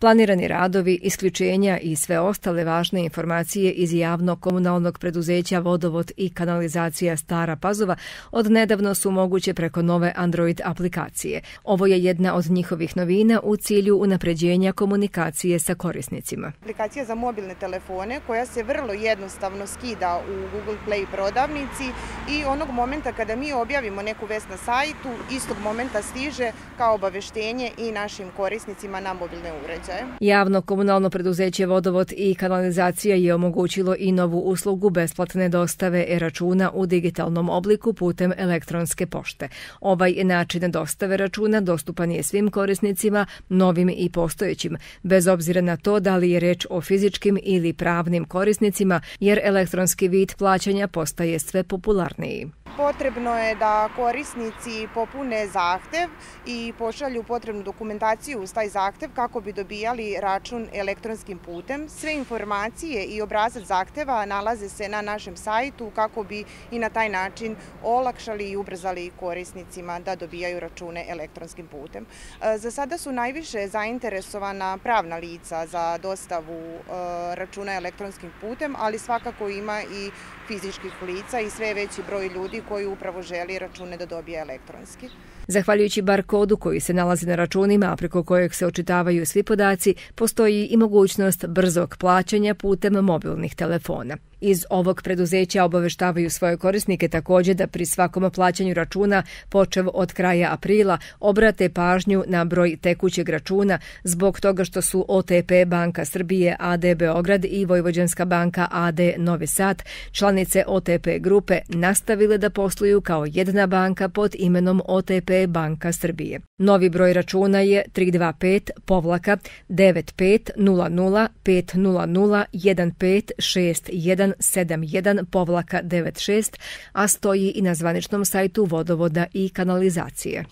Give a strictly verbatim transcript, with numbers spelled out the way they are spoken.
Planirani radovi, isključenja i sve ostale važne informacije iz javnog komunalnog preduzeća Vodovod i kanalizacija Stara Pazova odnedavno su moguće preko nove Android aplikacije. Ovo je jedna od njihovih novina u cilju unapređenja komunikacije sa korisnicima. Aplikacija za mobilne telefone koja se vrlo jednostavno skida u Google Play prodavnici i onog momenta kada mi objavimo neku vest na sajtu, istog momenta stiže kao obaveštenje i našim korisnicima na mobilne uređaje. Javno komunalno preduzeće Vodovod i kanalizacija je omogućilo i novu uslugu besplatne dostave e-računa u digitalnom obliku putem elektronske pošte. Ovaj način dostave računa dostupan je svim korisnicima, novim i postojećim, bez obzira na to da li je reč o fizičkim ili pravnim korisnicima, jer elektronski vid plaćanja postaje sve popularniji. Potrebno je da korisnici popune zahtev i pošalju potrebnu dokumentaciju uz taj zahtev kako bi dobijali račun elektronskim putem. Sve informacije i obrazac zahteva nalaze se na našem sajtu kako bi i na taj način olakšali i ubrzali korisnicima da dobijaju račune elektronskim putem. Za sada su najviše zainteresovana pravna lica za dostavu računa elektronskim putem, ali svakako ima i fizičkih lica i sve veći broj ljudi koji upravo želi račune da dobije elektronski. Zahvaljujući bar kodu koji se nalazi na računima, a preko kojeg se očitavaju svi podaci, postoji i mogućnost brzog plaćanja putem mobilnih telefona. Iz ovog preduzeća obaveštavaju svoje korisnike također da pri svakom plaćanju računa, počev od kraja aprila, obrate pažnju na broj tekućeg računa zbog toga što su O T P Banka Srbije A D Beograd i Vojvođanska banka A D Novi Sad, članice O T P grupe, nastavile da posluju kao jedna banka pod imenom O T P Banka Srbije. Novi broj računa je tri dva pet devet pet nula nula pet nula nula jedan pet šest jedan sedam jedan devet šest, a stoji i na zvaničnom sajtu Vodovoda i kanalizacije.